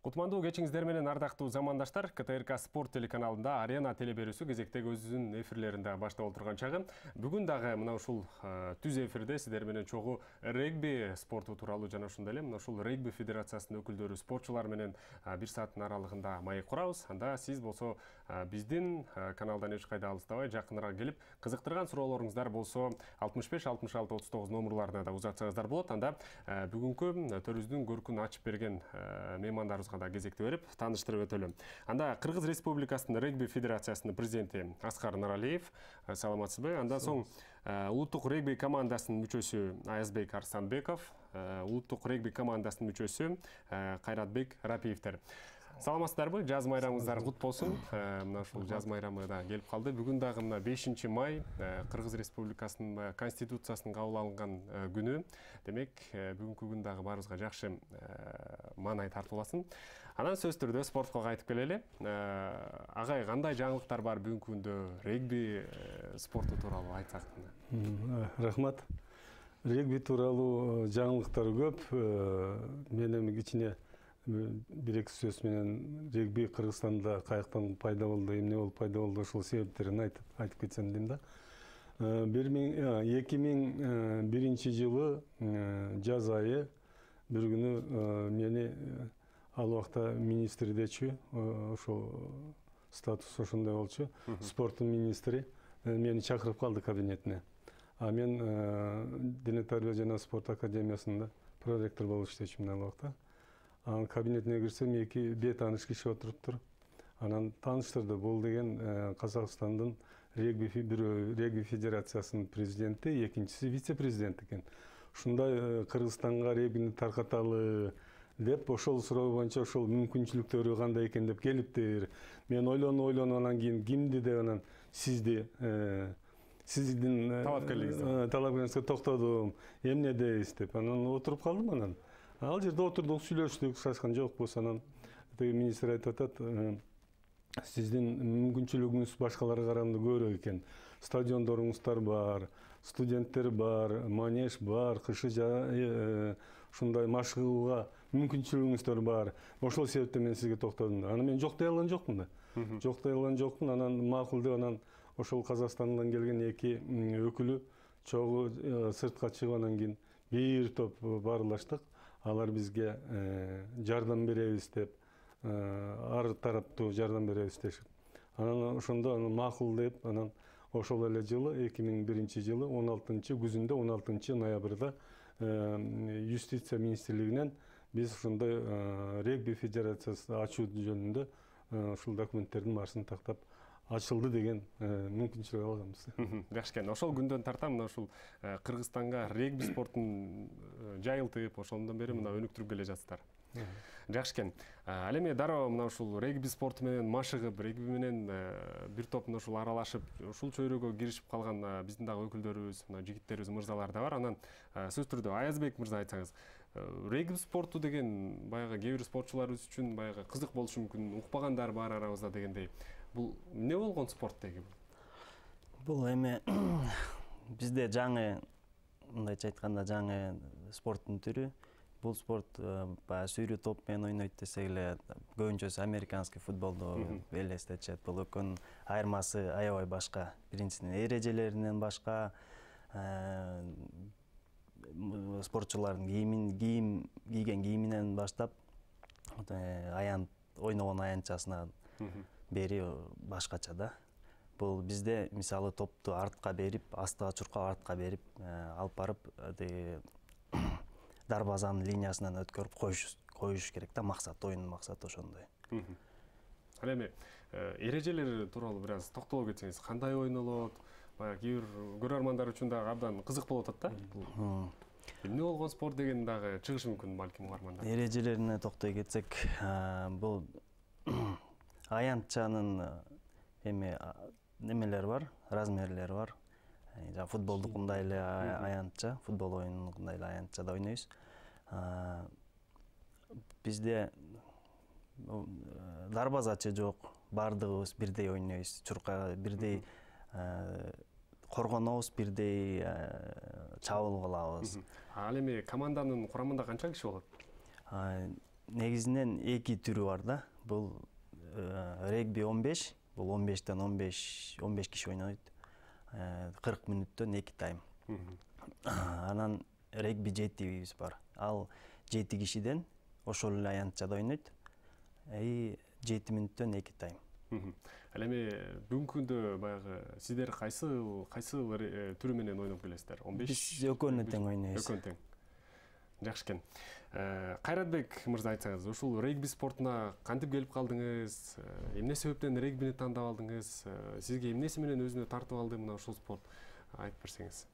Кутмандуу кечиңиздер менен ардактуу замандаштар, КТРК Спорт телеканалында Арена телеберүүсү кезектеги өзүнүн эфирлеринде баштап отурган чагы. Бүгүн дагы мына ушул түз эфирде сиздер менен чогуу регби спорту тууралуу жана ошондой эле мына ушул регби федерациясынын өкүлдөрү, спортчулар менен 1 сааттын аралыгында маек курабыз. Анда сиз болсо биздин каналдан эч кайда алыстабай жакыныраак келип, кызыктырган суроолоруңуздар болсо 65 66 39 номурларына да узатсаңыздар болот. Анда бүгүнкү төрүбүздүн көркүн ачып берген меймандарыбызга да кезекти берип тааныштырып өтөлүм. Анда Кыргыз Республикасынын регби федерациясынын президенти Аскар Нуралиев, саламатсызбы? Андан соң улуттук регби командасынын мүчөсү Аязбек Арстанбеков, улуттук регби командасынын мүчөсү Кайратбек Рапиевтер. Саламатсыздарбы? Жаз майрамыңыздар кут болсун. Мына ушул жаз майрамы да келип калды. Бүгүн дагы мына 5 май Кыргыз Республикасынын конституциясынын кабыл алынган күнү. Демек, бүгүнкү күн дагы баарыбызга жакшы маанай тартууласын. Анан сөз түрдө спортко кайтып келели. Агай, кандай жаңылыктар бар бүгүнкү күндө регби спорту тууралуу айтсак? Рахмат. Регби тууралуу жаңылыктар көп. Мен эми кичине бир-эки сөз менен регби Кыргызстанда каяктан пайда болду, эмне болуп пайда болду, ошол себептерин айтып кетсем дейм да. 2001 жылы жаз айы бир күнү мени ал убакта министрдечи, ошол статус ошондой болчу, спорттун министри мени чакырып калды кабинетине. А мен Дене тарбия жана спорт академиясында проректор болуп иштечүмүн ал убакта. Анын кабинетине кирсем, эки бейтааныш киши отуруптур. Анан тааныштырды. Бул деген Казакстандын регби федерациясынын президенти, экинчиси вице-президент экен. Ушундай Кыргызстанга регбини таркаталы деп, ошол суроо боюнча ошол мүмкүнчүлүктөрү кандай экен деп келиптир. Мен ойлонуп анан кийин кимди деп анан сиздин талапкерлигиңизге токтодум. Эмне дейсиз деп анан отуруп калдым. Анан ал жерде отурдук, сүйлөштүк, сачкан жокпуз. Анан министр айтып атат, сиздин мүмкүнчүлүгүңүз башкаларга караганда көбүрөөк экен. Стадиондоруңуздар бар, студенттер бар, манеж бар, кышы ушундай машыгууга мүмкүнчүлүгүңүздөр бар. Ошол себептен мен сизге токтодум. Анан мен жок дей алган жокмун да. Жок дей алган жокмун. Анан макул деп анан ошол Казакстандан келген эки өкүлү чогуу сыртка чыгып анан кийин бир топ баарлаштык. Алар бизге жардам беребиз деп, ар тараптуу жардам беребиз дешип. Анан ошондо макул деп, анан ошол эле жылы 2001 жылы 16-күзүндө 16 ноябрда юстиция министрлигинен биз ошондой регби федерациясы ачуу жөнүндө ушул документтердин баарысын тактап ачылды деген мүмкүнчүлүк алганбыз. Жакшы экен. Ошол күндөн тарта мына ушул Кыргызстанга регби спортун жайылтып, ошондон бери мына өнүктүрүп келе жатсыздар. Жакшы экен. Ал эми дароо мына ушул регби спорту менен машыгып, регби менен бир топ мына ушул аралашып, ушул чөйрөгө киришип калган биздин дагы өкүлдөрүбүз, мына жигиттерибиз, мырзалар да бар. Анан сөз түрдө Аязбек мырза айтсаңыз, регби спорту деген баягы кээ бир спортчуларыбыз үчүн баягы кызык болушу мүмкүн, укпагандар бар арабызда дегендей. Бул эмне болгон спорт деги? Бул эми бизде жаңы, мындайча айтканда, жаңы спорттун түрү. Бул спорт баягы сүйрүү топ менен ойнойт десек эле, көбүнчөсү американский футболду элестетишет. Бул экөөнүн айырмасы аябай башка. Биринчисинен эрежелеринен башка, спортчулардын кийген кийиминен баштап, ойногон аянтчасына бери башкача да. Бул бизде мисалы топту артка берип, астыга чуркап артка берип, алып барып дарбазанын линиясынан өткөрүп коюш керек да, максат, оюндун максаты ошондой. Ал эми эрежелер тууралуу бир аз токтоло кетсеңиз, кандай ойнолот? Баягы кээ бир көрөрмандар үчүн дагы абдан кызык болуп атат да. Эмне болгон спорт деген дагы чыгышы мүмкүн балким угармандар. Эрежелерине токтой кетсек, бул аянтчанын эми немелери бар, размерлери бар. Жана футболдукундай эле аянтча, футбол оюнундай эле аянтчада ойнойбуз. Бизде дарбазачы жок, баардыгыбыз бирдей ойнойбуз, чуркага бирдей коргонобуз, бирдей чабуул кылабыз. Ал эми команданын курамында канча киши болот? негизинен эки түрү бар да. Бул регби 15, бул 15тен 15 киши ойнойт. 40 мүнөттөн 2 тайм. Анан регби 7 бар. Ал 7 кишиден ошол эле аянтчада ойнойт. 7 мүнөттөн 2 тайм. Ал эми бүгүнкү күндө баягы сиздер кайсы түрү менен ойноп келесиздер? 15? Биз экөөнү тең ойнойбуз. Экөөнү тең. Жакшы экен. Кайратбек мырза, айтсаңыз, ушул регби спортуна кантип келип калдыңыз? Эмне себептен регбини тандап алдыңыз? Сизге эмнеси менен өзүнө тартып алды мына ушул спорт? Айтып берсеңиз.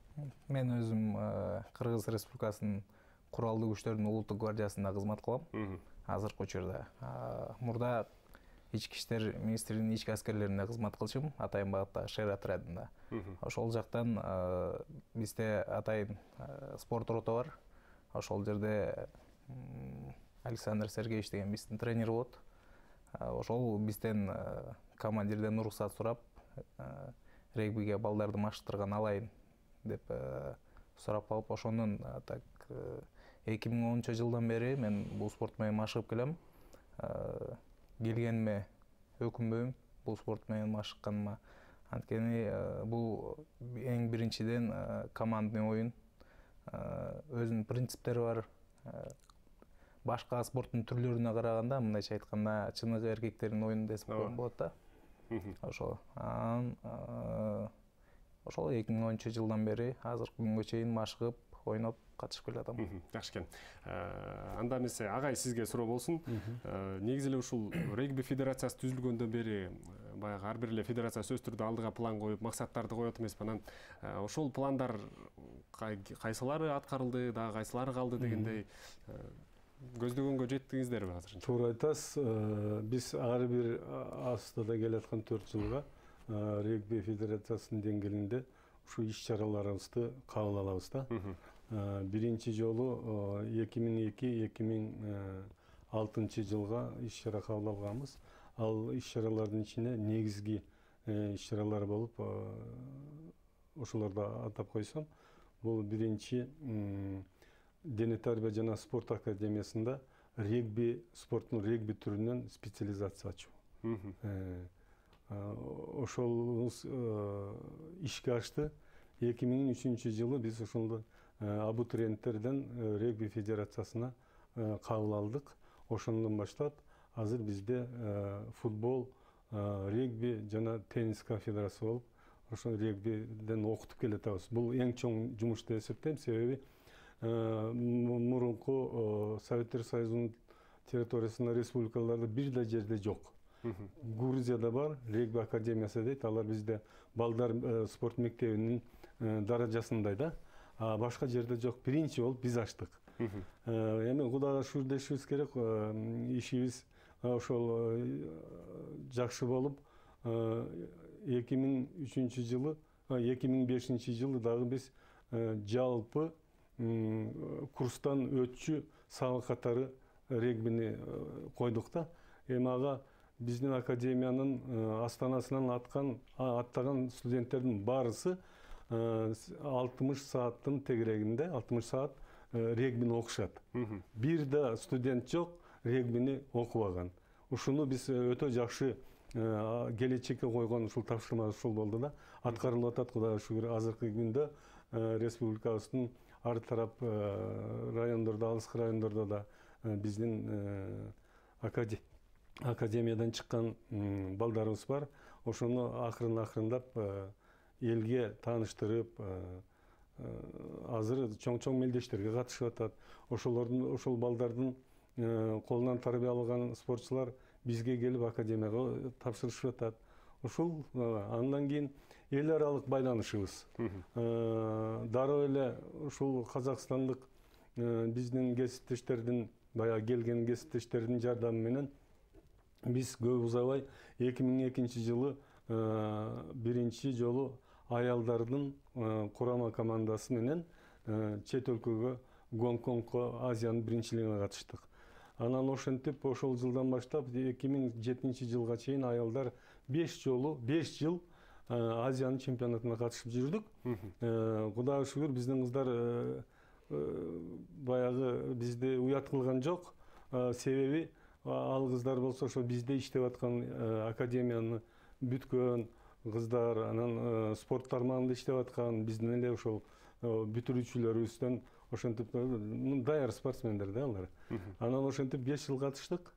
Мен өзүм Кыргыз Республикасынын куралдуу күчтөрдүн улуттук гвардиясында кызмат кылам. Азыркы учурда. Мурда Ички иштер министрлигинин ички аскерлеринде кызмат кылчумун, атайын багыттагы шер отрядында. Ошол жактан бизде атайын спорт рота бар. Ошол жерде Александр Сергеевич деген биздин тренер болот. Ошол бизден командирден уруксат сурап, регбиге балдарды машыктырган алайын деп сурап алып, ошонун так 2010-жылдан бери мен бул спорт менен машыгып келем. Келгениме өкүнбөйм бул спорт менен машыкканыма. Анткени бул эң биринчиден командный оюн, өзүнүн принциптери бар. Башка спорттун түрлөрүнө караганда, мындайча айтканда, чыныгы эркектердин оюну десек болот да. Ошол. Ошол 2010-жылдан бери азыркы күнгө чейин машыгып, ойноп катышып келатам. Жакшы экен. Анда эмесе агай сизге суроо болсун. Негизи эле ушул регби федерациясы түзүлгөндөн бери баягы ар бир эле федерация сөзсүз түрдө алдыга план коюп, максаттарды коет эмеспи? Анан ошол пландар кайсылары аткарылды, дагы кайсылары калды дегендей көздөгөнгө жеттиңиздерби азырынча? Туура айтасыз. Биз ар бир астада келаткан 4 жылга регби федерациясынын деңгээлинде ушул иш-чараларыбызды кабыл алабыз да. Биринчи жолу 2002-2006 жылга иш-чара кабыл алганбыз. Ал иш-чаралардын ичине негизги иш-чаралар болуп, ошолорду атап койсом, бул биринчи Дене тарбия жана спорт академиясында регби спорттун регби түрүнөн специализация ачуу. Ошол ишке ашты. 2003 жылы биз ошондо абитуриенттерден регби федерациясына кабыл алдык. Ошондон баштап азыр бизде футбол, регби жана теннис кафедрасы болуп, ошол регбиден окутуп келатабыз. Бул эң чоң жумуш деп эсептейм, себеби мурунку Советтер Союзунун территориясында республикаларда бир да жерде жок. Грузияда бар, регби академиясы дейт, алар бизде балдар спорт мектебинин даражасындай да. Башка жерде жок. Биринчи болуп биз ачтык. Эми Кудайга шүгүр дешибиз керек, ишибиз ошол жакшы болуп, 2003 жылы, 2005 жылы дагы биз жалпы курстан өтчү сабак катары регбини койдук да. Эми ага биздин академиянын астанасынан аттаган студенттердин баарысы 60 сааттын тегерегинде, 60 саат регбини окушат. Бир да студент жок регбини окубаган. Ушуну биз өтө жакшы келечекке койгон ушул тапшырма ушул болду да. Аткарылып атат, Кудайга шүгүр. Азыркы күндө республикабыздын ар тарап райондордо, алыскы райондордо да биздин академиядан чыккан балдарыбыз бар. Ошону акырындап элге тааныштырып, азыр чоң мелдештерге катышып атат. Ошол балдардын колунан тарбия алган спортчулар бизге келип академияга тапшырышып атат. Ушул андан кийин эл аралык байланышыбыз. Дароо эле ушул казакстандык биздин кесиптештердин, баягы келген кесиптештердин жардамы менен биз көп узабай 2002 жылы биринчи жолу аялдардын курама командасы менен чет өлкөгө, Гонконгко, Азиянын биринчилигине катыштык. Анан ошентип ошол жылдан баштап 2007 жылга чейин аялдар 5 жыл Азиянын чемпионатына катышып жүрдүк. Кудайга шүгүр, биздин кыздар баягы бизди уят кылган жок. себеби ал кыздар болсо ошо бизде иштеп аткан академияны бүткөн кыздар, анан спорт тармагында иштеп аткан биздин эле ошол бүтүрүүчүлөрүбүздөн ошентип даяр спортсмендер да алар. Анан ошентип 5 жыл катыштык.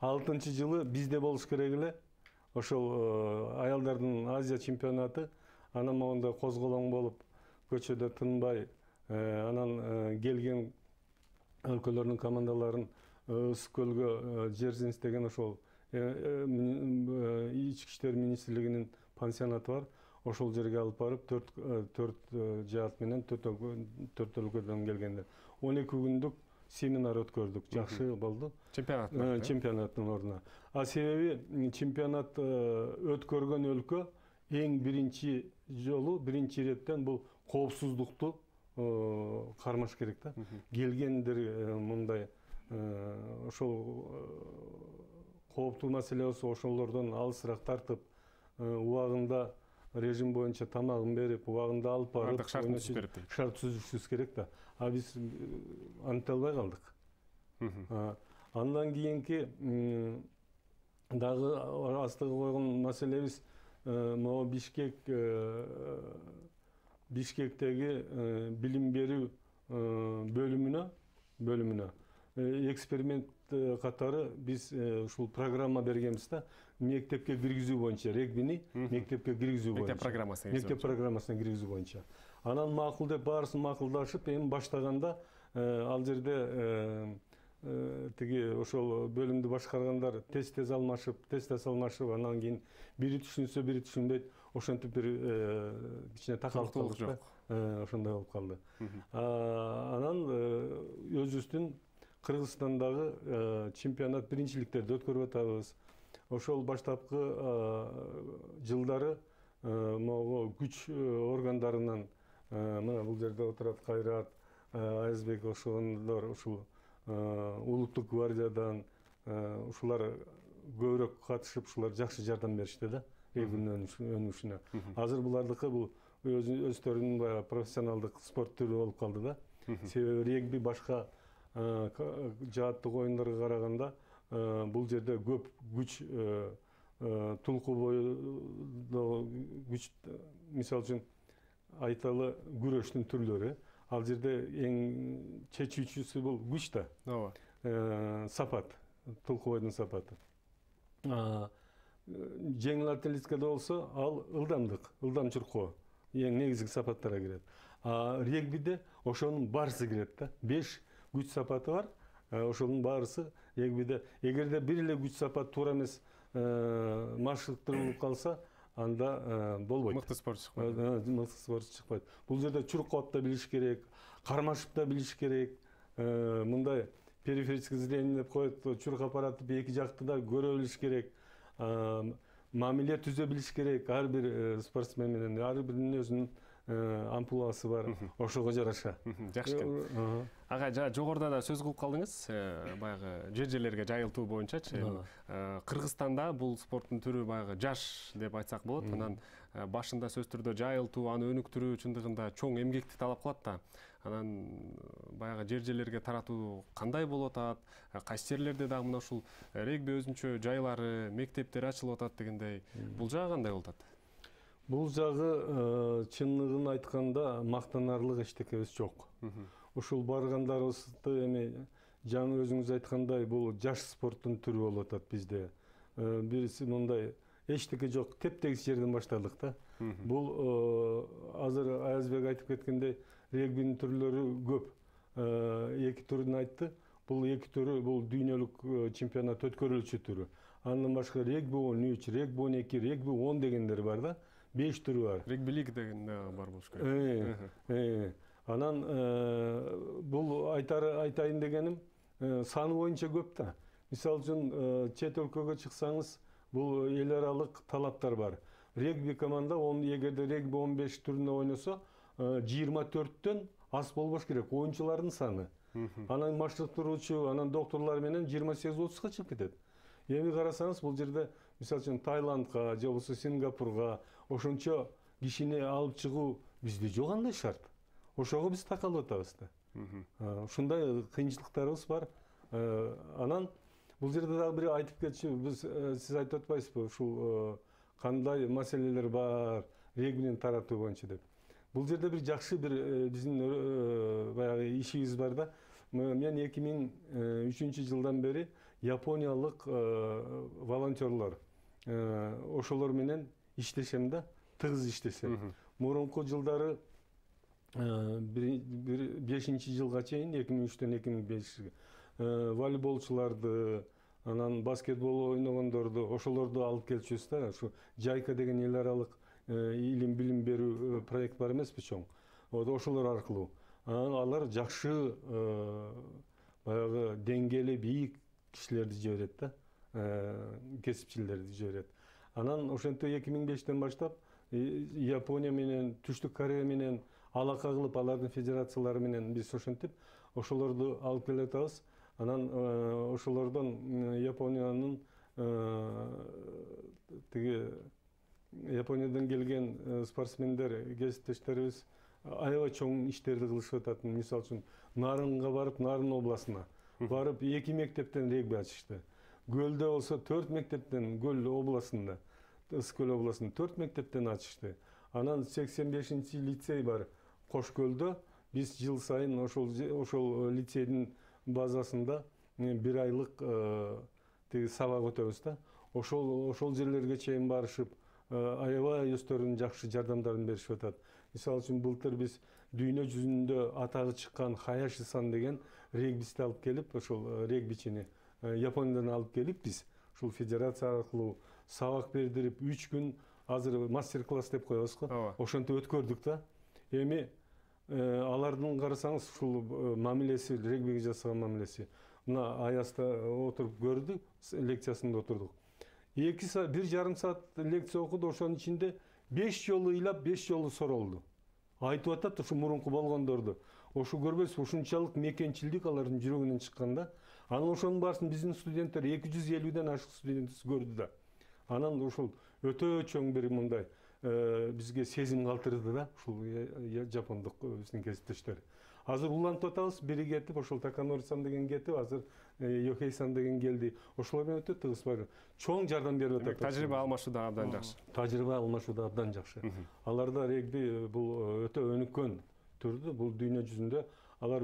6-жылы бизде болуш керек эле ошол аялдардын Азия чемпионаты. Анан могунда козголоң болуп, көчөдө тынбай, анан келген өлкөлөрдүн командаларын Ысык көлгө Жерзинс деген ошол ички иштер министрлигинин пансионаты бар. Ошол жерге алып барып 4 жаат менен 4 өлкөдөн келгендер 12 күндүк семинар өткөрдүк. Жакшы болду. Чемпионаттын ордуна. Себеби чемпионат өткөргөн өлкө эң биринчи жолу, биринчи иреттен бул коопсуздукту кармаш керек да. Келгендер мындай ошол кооптуу маселе болсо ошолордон алысыраак тартып, убагында режим боюнча тамагын берип, убагында алып барып, шарт түзүшүбүз керек да. Биз антыта албай калдык. Андан кийинки дагы астыга койгон маселебиз могу Бишкектеги билим берүү бөлүмүнө эксперимент катары биз ушул программа бергенбиз да. Мектепке киргизүү боюнча, регбини мектепке киргизүү боюнча. Мектеп программасына киргизүү боюнча. Анан макул деп баарысын макулдашып, эми баштаганда ал жерде тиги ошол бөлүмдү башкаргандар тез алмашып, анан кийин бири түшүнсө, бири түшүнбөйт. Ошентип бир кичине такалыктуулук жок. Ошондой болуп калды. Анан өзүбүздүн Кыргызстандагы чемпионат биринчиликтерди өткөрүп атабыз. Ошол баштапкы жылдары могу күч органдарынан мына бул жерде отурат Кайрат, Аязбек ошондор ушул улуттук гвардиядан ушулар көбүрөөк катышып, ушулар жакшы жардам беришти да регбинин өнүгүшүнө. Азыр булардыкы бул өздөрүнүн баягы профессионалдык спорт түрү болуп калды да. Себеби регби башка жааттык оюндарга караганда бул жерде көп күч, тулку бою күч, мисалы үчүн айталы күрөштүн түрлөрү. Ал жерде эң чечүүчүсү бул күч да. Ооба. Сапат, тулку бойдун сапаты. Жеңил атлетикада болсо ал ылдам чуркоо эң негизги сапаттарга кирет. Регбиде ошонун баарысы кирет да. 5 күч сапаты бар. Ошонун баарысы регбиде. Эгерде бир эле күч сапат туура эмес маршруттурулуп калса, анда болбойт. Мыкты спортчу чыкпайт. Бул жерде чуркоп да билиш керек, кармашып да билиш керек. Мындай периферическое зрение деп коет, чурк аппараты эки жакты да көрө билиш керек. Мамиле түзө билиш керек. Ар бир спортсмен менен ар биринин өзүнүн ампуласы бар. Ошого жараша. Жакшы экен. Ага, жогоруда да сөз кылып калдыңыз, баягы жер-жерлерге жайылтуу боюнчачы. Кыргызстанда бул спорттун түрү баягы жаш деп айтсак болот. Анан башында сөз түрдө жайылтуу, аны өнүктүрүү чындыгында чоң эмгекти талап кылат да. Анан баягы жер-жерлерге таратуу кандай болуп атат? Кайсы жерлерде дагы мына ушул регби өзүнчө жайлары, мектептер ачылып атат дегендей. Бул жагы кандай болуп атат? Бул жагы чындыгын айтканда мактанарлык эчтекебиз жок. Ушул баргандарыбызды эми жаңы өзүңүз айткандай бул жаш спорттун түрү болуп атат бизде. Бириси мындай эчтеке жок, тептегис жерден баштадык да. Бул азыр Аязбек айтып кеткендей регбинин түрлөрү көп. 2 түрүн айтты. Бул 2 түрү бул дүйнөлүк чемпионат өткөрүлчү түрү. Андан башка регби 13, регби 12, регби 10 дегендер бар да. 5 түрү бар. Регби лиг деген бар болуш керек. Анан бул айтайын дегеним саны боюнча көп да. Мисалы үчүн чет өлкөгө чыксаңыз, бул эл аралык талаптар бар. Регби команда эгерде регби 15 түрүнө ойносо, 24төн аз болбош керек оюнчулардын саны. Анан машыктыруучу, анан докторлор менен 28-30га чыгып кетет. Эми карасаңыз, бул жерде мисалы үчүн Таиландга же болбосо Сингапурга ошончо кишини алып чыгуу бизде жок андай шарт. Ошого биз такалып атабыз да. Ушундай кыйынчылыктарыбыз бар. Анан бул жерде дагы бир айтып кетчү, биз сиз айтып атпайсызбы ушул кандай маселелер бар регбинин таратуу боюнча деп. Бул жерде бир жакшы бир биздин баягы ишибиз бар да. Мен 2003 жылдан бери япониялык волонтерлор ошолор менен иштешем да, тыгыз иштешем. Мурунку жылдары 5 жылга чейин 2003-төн 2005-ге волейболчуларды, анан баскетбол ойногондорду, ошолорду алып келчүбүз да. Ушу Жайка деген эл аралык илим билим берүү проект бар эмеспи, чоң. Ошолор аркылуу алар жакшы баягы деңгээли бийик кишилерди жиберет да, кесипчилерди жиберет. Анан ошентип 2005-тен баштап Япония менен, Түштүк Корея менен алака кылып, алардын федерациялары менен биз ошентип ошолорду алып келатабыз. Анан ошолордон Япониянын Япониядан келген спортсмендер, кесиптештерибиз аябай чоң иштерди кылышып атат. Мисалы үчүн Нарынга барып, Нарын областына барып 2 мектептен регби ачышты. Көлдө болсо 4 мектептен, Көл областында, Ысык-Көл областында 4 мектептен ачышты. Анан 85-чи лицей бар Кош-Көлдө. Биз жыл сайын ошол лицейдин базасында бир айлык сабак өтөбүз да. Ошол жерлерге чейин барышып, аябай өздөрүнүн жакшы жардамдарын беришип атат. Мисалы үчүн былтыр биз дүйнө жүзүндө атагы чыккан Хаяши-сан деген регбисти алып келип, ошол регбичини Япониядан алып келип, биз ушул федерация аркылуу сабак бердирип 3 күн азыр мастер-класс деп коебуз го. Ошентип өткөрдүк да. Эми алардын карасаңыз ушул мамилеси, регбиге жасаган мамилеси. Мына Аязда отуруп көрдүк, лекциясында отурдук. 1,5 саат лекция окуду, ошонун ичинде 5 жолу ыйлап, 5 жолу соролду. Айтып атат ушу мурунку болгондорду. Ошу көрбөйсүз, ушунчалык мекенчилдик алардын жүрөгүнөн чыккан да. Анан ошонун баарысын биздин студенттер 250ден ашык студент көрдү да. Анан ушул өтө чоң бир мындай бизге сезим калтырды да, ушул жапондук биздин кесиптештер. Азыр улантып атабыз, бири кетип, ошол Таканори-сан деген кетип, азыр Йохей-сан деген келди. Ошолор менен өтө тыгыз бар. Чоң жардам берип атат. Тажрыйба алмашууда абдан жакшы. Тажрыйба алмашууда абдан жакшы. Аларда регби бул өтө өнүккөн түрдө, бул дүйнө жүзүндө алар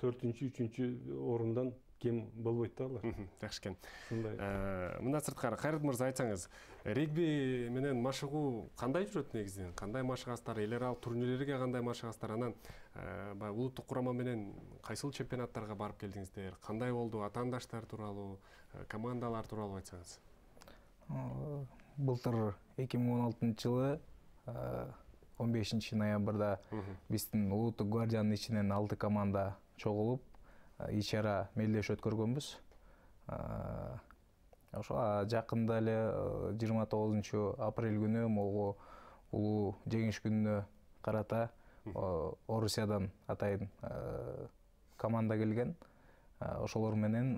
4-3 орундан кем болбойт да алар. Жакшы экен. Мындан сырткары Кайрат мырза айтсаңыз, регби менен машыгуу кандай жүрөт негизинен? Кандай машыгасыздар? Эл аралык турнирлерге кандай машыгасыздар? Анан улуттук курама менен кайсыл чемпионаттарга барып келдиңиздер? Кандай болду? Атаандаштар тууралуу, командалар тууралуу айтсаңыз. Былтыр 2016-жылы 15 ноябрда биздин улуттук гвардиянын ичинен 6 команда чогулуп иш-чара мелдеш өткөргөнбүз. Ошо жакында эле 29-апрель күнү могу улуу жеңиш күнүнө карата Орусиядан атайын команда келген. Ошолор менен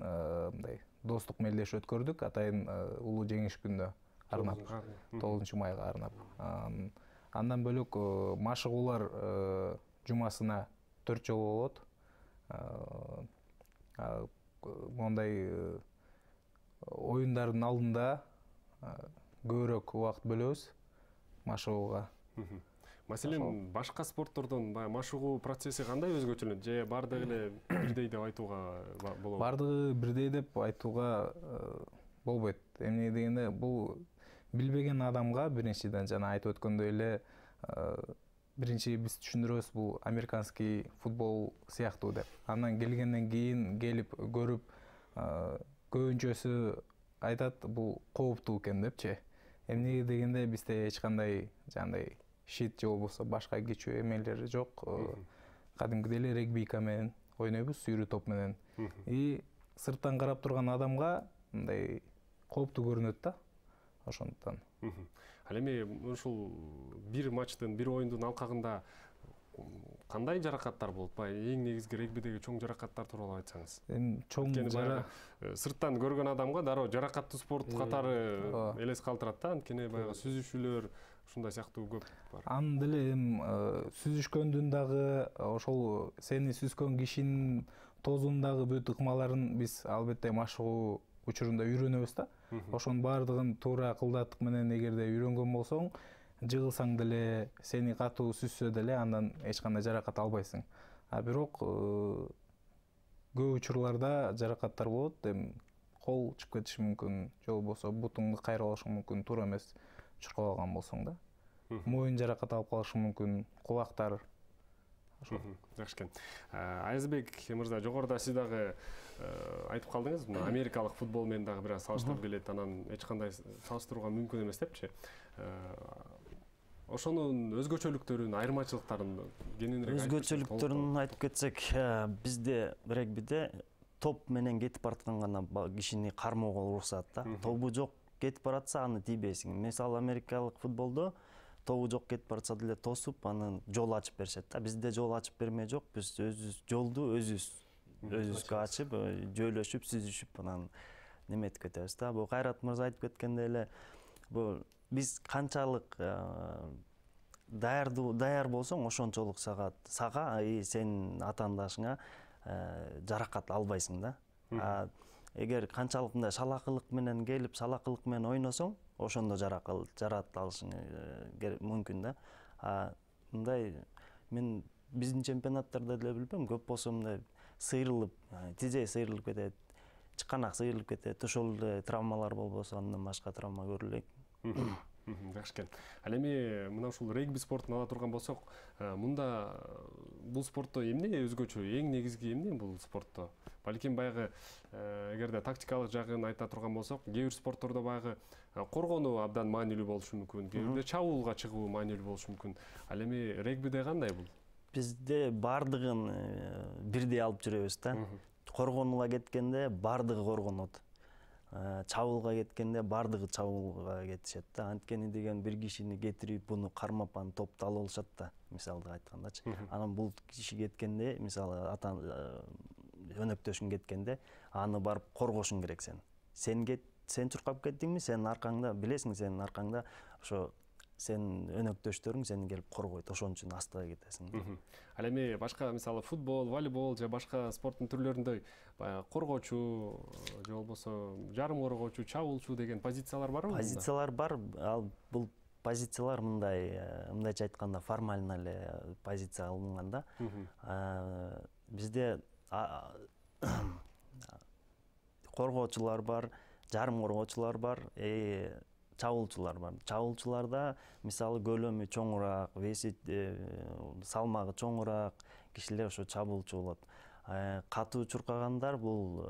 мындай достук мелдеш өткөрдүк атайын улуу жеңиш күнүнө арнап, 9 майга арнап. Андан бөлөк машыгуулар жумасына 4 жолу болот. Мондай оюндардын алдында көбүрөөк убакыт бөлөбүз машыгууга. Маселен, башка спорттордон машыгуу процесси кандай өзгөчөлөнөт? Же бардыгы эле бирдей деп айтууга болобу? Бардыгы бирдей деп айтууга болбойт. Эмне дегенде, бул билбеген адамга биринчиден жана айтып өткөндөй эле биринчи биз түшүндүрөбүз, бул американский футбол сыяктуу деп. Андан келгенден кийин келип көрүп, көбүнчөсү айтат бул кооптуу экен депчи. Эмне дегенде бизде эч кандай жандай шит же болбосо башка кечүү эмелер жок. Кадимкидей эле регбийка менен ойнойбуз, сүйрүү топ менен. И сырттан карап турган адамга мындай кооптуу көрүнөт да. Ошондуктан. Ал эми ушул бир матчтын, бир оюндун алкагында кандай жаракаттар болот? Эң негизги регбидеги чоң жаракаттар тууралуу айтсаңыз. Чоң сырттан көргөн адамга дароо жаракаттуу спорт катары элес калтырат да, анткени баягы сүзүшүүлөр ушундай сыяктуу көп бар. Аны деле сүзүшкөндүн дагы ошол сени сүзгөн кишинин тозундагы бүт ыкмаларын биз албетте машыгуу учурунда үйрөнөбүз да. Ошонун баардыгын туура кылдаттык менен эгерде үйрөнгөн болсоң, жыгылсаң деле, сени катуу сүзсө деле андан эч кандай жаракат албайсың. Бирок көп учурларда жаракаттар болот. Кол чыгып кетиши мүмкүн, же болбосо бутуңду кайрып алышы мүмкүн, туура эмес чуркап алган болсоң да. Моюн жаракат алып калышы мүмкүн, кулактар. Жакшы экен. Айзбек мырза, жогоруда сиз дагы айтып калдыңыз, мына америкалык футбол менен дагы бир аз салыштырып келет, анан эч кандай салыштырууга мүмкүн эмес депчи. Ошонун өзгөчөлүктөрүн, айырмачылыктарын кененирээк айтып кетсек. Өзгөчөлүктөрүн айтып кетсек, бизде регбиде топ менен кетип бараткан гана кишини кармоого уруксат да. Тобу жок кетип баратса, аны тийбейсиң. Мисалы америкалык футболдо тобу жок кетип баратса деле тосуп, анын жол ачып беришет да. Бизде жол ачып бермей жок, биз өзүбүз жолду өзүбүзгө ачып, жөйлөшүп, сүзүшүп, анан неметип кетебиз да. Бул Кайрат мырза айтып кеткендей эле, бул биз канчалык даяр болсоң, ошончолук сага сенин атаандашыңа жаракат албайсың да. Эгер канчалык мындай шалакылык менен келип, шалакылык менен ойносоң, ошондо жарат алышың мүмкүн да. Мындай мен биздин чемпионаттарда деле билбейм, көп болсо мындай сыйрылып, тизеги сыйрылып кетет, чыканак сыйрылып кетет, ошол эле травмалар болбосо андан башка травма көрүлөйт. Жакшы экен. Ал эми мына ушул регби спортун ала турган болсок, мында бул спортто эмне өзгөчө, эң негизги эмне бул спортто? Балким баягы эгерде тактикалык жагын айта турган болсок, кээ бир спорттордо баягы коргонуу абдан маанилүү болушу мүмкүн, кээ бирде чабуулга чыгуу маанилүү болушу мүмкүн. Ал эми регбиде кандай бул? Бизде бардыгын бирдей алып жүрөбүз да. Коргонууга кеткенде бардыгы коргонот. Чабуулга кеткенде бардыгы чабуулга кетишет да. Анткени деген бир кишини кетирип, буну кармап, аны топту алып алышат да, мисалды айткандачы. Анан бул киши кеткенде, мисалы өнөктөшүң кеткенде, аны барып коргошуң керек сен. Сен чуркап кеттиңби, сенин аркаңда, билесиң сенин аркаңда ошо сенин өнөктөштөрүң сени келип коргойт, ошон үчүн астыга кетесиң. Ал эми башка мисалы футбол, волейбол же башка спорттун түрлөрүндөй баягы коргоочу же болбосо жарым коргоочу, чабуулчу деген позициялар барбы? Позициялар бар. Ал бул позициялар мындайча айтканда формально эле позиция алынган да. Бизде коргоочулар бар, жарым коргоочулар бар, чабуулчулар бар. Чабуулчуларда мисалы көлөмү чоңураак, веси салмагы чоңураак кишилер ошо чабуулчу болот. Катуу чуркагандар бул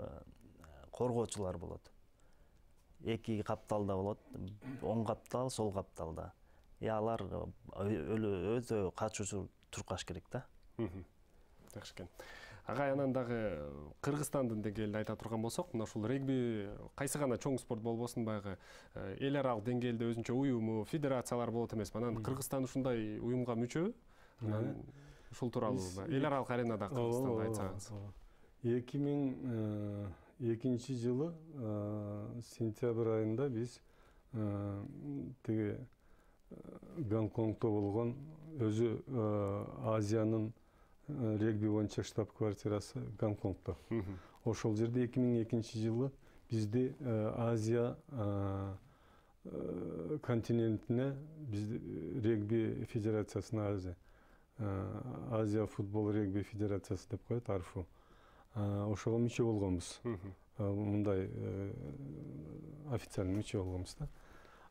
коргоочулар болот. Эки капталда болот, оң каптал, сол капталда. Алар өтө качуучу чуркаш керек да. Жакшы экен. Агай, анан дагы Кыргызстандын деңгээлинде айта турган болсок, мына ушул регби кайсы гана чоң спорт болбосун, баягы эл аралык деңгээлде өзүнчө уюму, федерациялар болот эмеспи? Анан Кыргызстан ушундай уюмга мүчөбү? Анан ушул тууралуу эл аралык аренада Кыргызстанды айтсаңыз. 2002 жылы сентябрь айында биз тиги Гонконгдо болгон өзү Азиянын регби боюнча штаб-квартирасы Гонконгдо. Ошол жерде 2002 жылы бизди Азия континентине регби федерациясына Азия футбол регби федерациясы деп коет, АРФУ. Ошого мүчө болгонбуз. Мындай официальный мүчө болгонбуз да.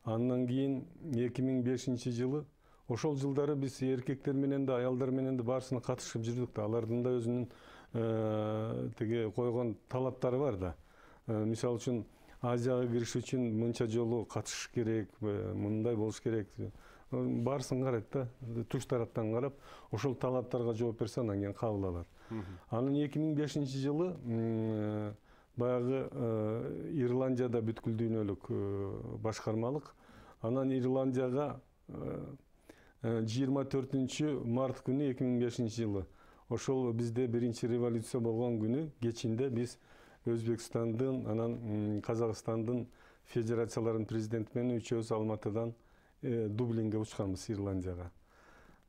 Андан кийин 2005 жылы ошол жылдары биз эркектер менен да, аялдар менен да баарысына катышып жүрдүк да. Алардын да өзүнүн тиги койгон талаптары бар да. Мисалы үчүн Азияга кириш үчүн мынча жолу катышыш керек, мындай болуш керек. Баарысын карайт да, туш тараптан карап, ошол талаптарга жооп берсе, анан кийин кабыл алат. Анан 2005 жылы баягы Ирландияда бүткүл дүйнөлүк башкармалык, анан Ирландияга 24 март күнү 2005 жылы ошол бизде биринчи революция болгон күнү кечинде биз Өзбекстандын, анан Казакстандын федерацияларынын президенти менен үчөөбүз Алматыдан Дублинге учканбыз, Ирландияга.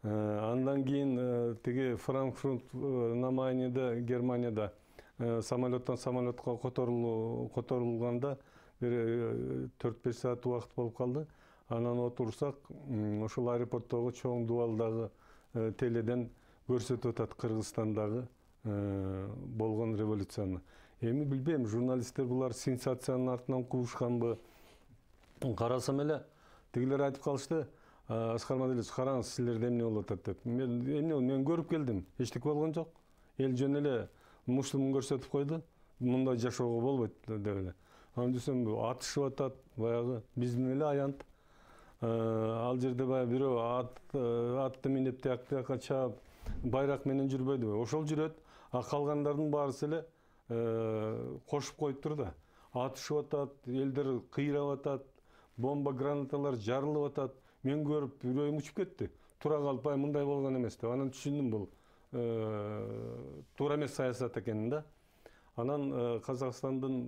Андан кийин тиги Франкфурт на Майнеде, Германияда самолеттон самолетко которулганда бир 4-5 саат убакыт болуп калды. Анан отурсак, ошол аэропорттогу чоң дубалдагы теледен көрсөтүп атат Кыргызстандагы болгон революцияны. Эми билбейм, журналисттер булар сенсациянын артынан куушканбы? Карасам эле тигилер айтып калышты, Аскар Мадалиевич, караңыз, силерде эмне болуп атат деп. Мен көрүп келдим, эчтеке болгон жок. Эл жөн эле муштумун көрсөтүп койду. Мындай жашоого болбойт деп эле. Анан десем, атышып атат, баягы биздин эле аянт. Ал жерде баягы бирөө атты минип тияка чаап, байрак менен жүрбөйдүбү? Ошол жүрөт, а калгандардын баарысы эле кошуп коюптур да. Атышып атат, элдер кыйрап атат, бомба гранаталар жарылып атат. Мен көрүп, үрөйүм учуп кетти. Тура калып, мындай болгон эмес деп. Анан түшүндүм, бул туура эмес саясат экенин да. Анан Казакстандын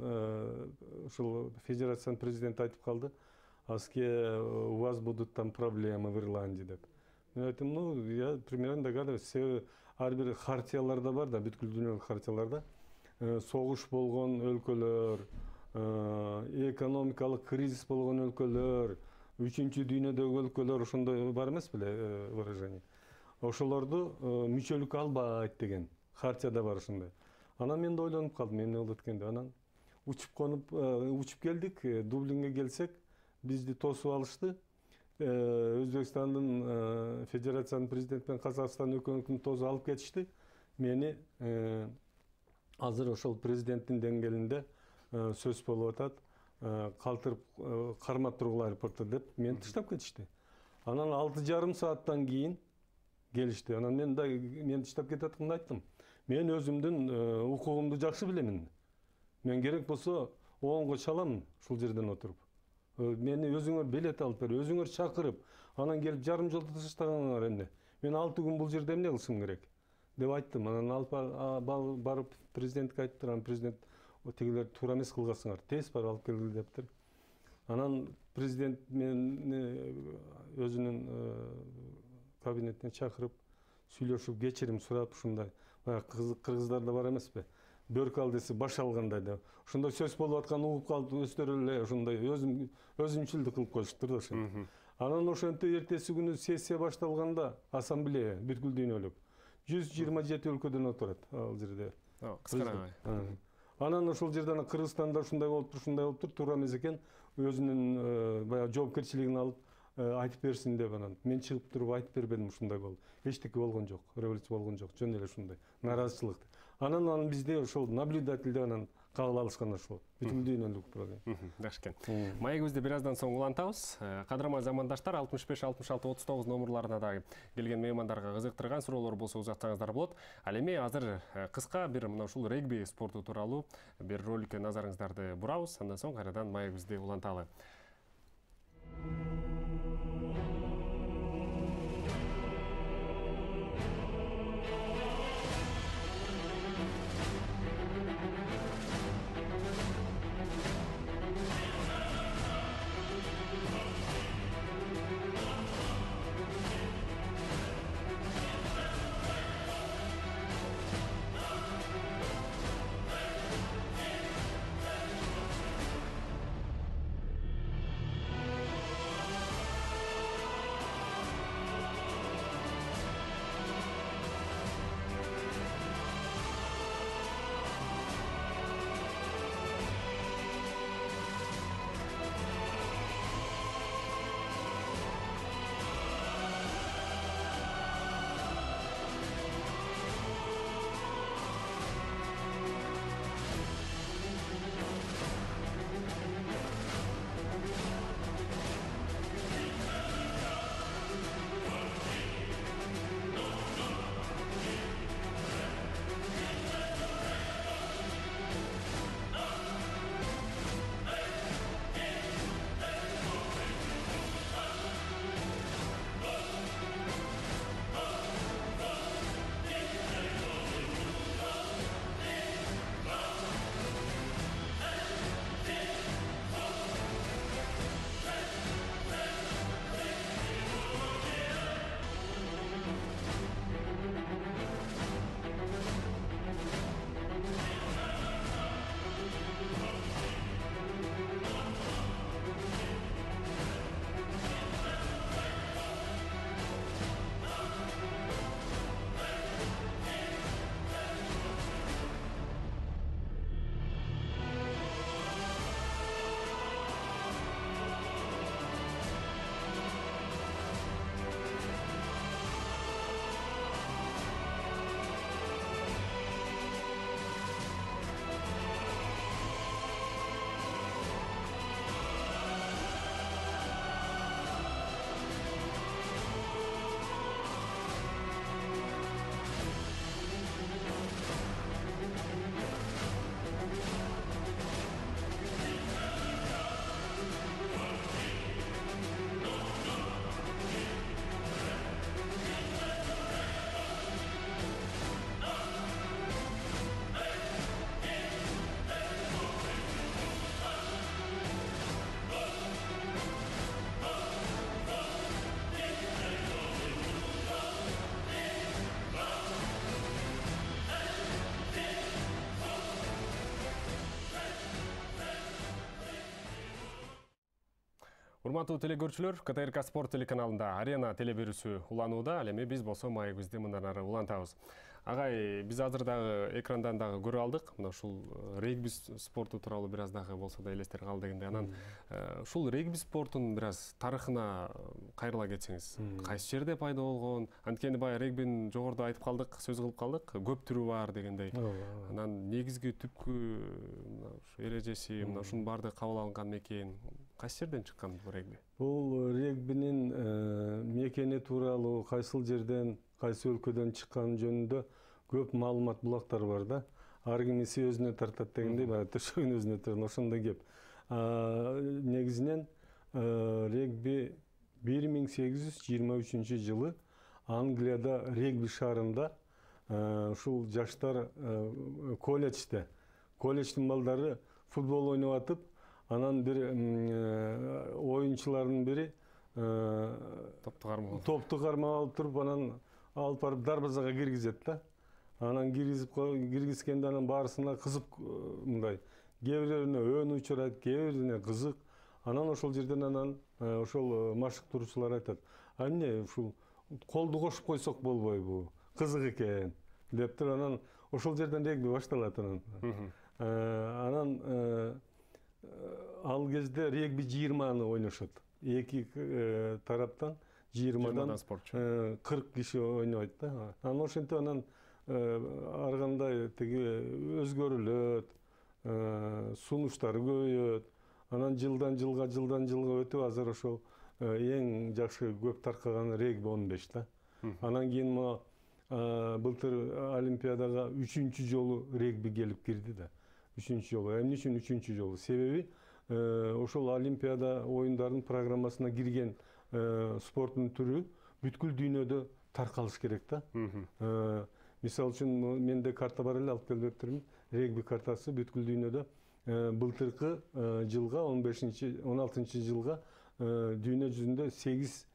ушул федерациянын президенти айтып калды, Аске, у вас будут там проблемы в Ирландии деп. Мен айттым, я примерно догадываюсь, ар бир хартияларда бар да, бүткүл дүйнөлүк хартияларда согуш болгон өлкөлөр, экономикалык кризис болгон өлкөлөр, үчүнчү дүйнөдөгү өлкөлөр ошондой бар эмес беле выражение. Ошолорду мүчөлүккө албайт деген хартияда бар ошондой. Анан мен да ойлонуп калдым, эмне болот экен деп. Анан учуп келдик, Дублинге келсек, бизди тосуп алышты. Өзбекстандын федерациянын президенти менен Казакстандын өкмөтүн тосуп алып кетишти. Мени азыр ошол президенттин деңгээлинде сөз болуп атат, калтырып кармап тургула аэропортто деп мени таштап кетишти. Анан 6,5 сааттан кийин келишти. Анан мен таштап кетип атканда айттым. Мен өзүмдүн укугумду жакшы билемин. Мен керек болсо оңго чалам ушул жерден отуруп. Мени өзүңөр билет алып бер, өзүңөр чакырып, анан келип жарым жолдо таштагаңар эмне? Мен 6 күн бул жерде эмне кылышым керек деп айттым. Анан алып барып президентке айттым. Анан президент тигилер туура эмес кылгасыңар, тез барып алып келгиле дептир. Анан президент мени өзүнүн кабинетине чакырып, сүйлөшүп, кечирим сурап, ушундай баягы кыргыздарда бар эмеспи? Бөрк ал десе баш алгандай деп. Ошондой сөз болуп атканын угуп калып, өздөрү эле ошондой өзүнчүлдүк кылып коюштур да ошо. Анан ошентип эртеси күнү сессия башталганда, ассамблея бүткүл дүйнөлүк 127 өлкөдөн отурат ал жерде. Кыскара. Анан ошол жерден Кыргызстанда ушундай болуптур, туура эмес экен, өзүнүн баягы жоопкерчилигин алып айтып берсин деп. Анан мен чыгып туруп айтып бербедим, ушундай болду. Эчтеке болгон жок, революция болгон жок, жөн эле ушундай нааразычылык. Анан бизде ошол наблюдательде анан кабыл алышкан ошол бүткүл дүйнөлүк программа. Жакшы экен. Маегибизди бир аздан соң улантабыз. Кадырман замандаштар 65-66-39 номерларына дагы келген меймандарга кызыктырган суроолор болсо узатсаңыздар болот. Ал эми азыр кыска бир мына ушул регби спорту тууралуу бир роликке назарыңыздарды бурабыз. Андан соң кайрадан маегибизди уланталы. Урматтуу телекөрүүчүлөр, КТРК Спорт телеканалында Арена телеберүүсү уланууда, ал эми биз болсо маегибизди мындан ары улантабыз. Агай, биз азыр дагы экрандан дагы көрүп алдык. Мына ушул регби спорту тууралуу бир аз дагы болсо да элестер калды дегенде. Анан ушул регби спортунун бир аз тарыхына кайрыла кетсеңиз, кайсы жерде пайда болгон? Анткени баягы регбинин жогоруда айтып калдык, сөз кылып калдык, көп түрү бар дегендей. Анан негизги түпкү эрежеси, мына ушунун баардыгы кабыл алынган мекен кайсы жерден чыккан бул регби? Бул регбинин мекени тууралуу кайсыл жерден, кайсы өлкөдөн чыкканы жөнүндө көп маалымат булактар бар да. Ар кимиси өзүнө тартат дегендей, баягы төшөгүн өзүнө тартат, ошондой кеп. Негизинен регби 1823 жылы Англияда регби шаарында ушул жаштар колледждин балдары футбол ойноп атып, анан бир оюнчулардын бири топту кармап алып туруп, анан алып барып дарбазага киргизет да. Анан киргизгенде анан баарысына кызык мындай, кээ бирлерине өөнү учурайт, кээ бирине кызык. Анан ошол жерден анан ошол машыктыруучулар айтат: "А эмне ушул колду кошуп койсок болбойбу? Кызык экен" деп туруп, анан ошол жерден регби башталат анан. Анан ал кезде регби 20 ойношот. Эки тараптан 20-дан 40 киши ойнойт да. Анан ошентип анан ар кандай тиги өзгөрүлөт, сунуштары көбөйөт. Анан жылдан жылга өтүп, азыр ошол эң жакшы көп таркаган регби 15 да. Анан кийин былтыр Олимпиадага 3-чү жолу регби келип кирди да. 3-чү жолу. Эмне үчүн 3-чү жолу? Себеби ошол Олимпиада оюндарынын программасына кирген спорттун түрү бүткүл дүйнөдө таркалыш керек да. Мисалы үчүн менде карта бар эле, алып келип бериптирмин. Регби картасы бүткүл дүйнөдө былтыркы жылга 16 жылга дүйнө жүзүндө 8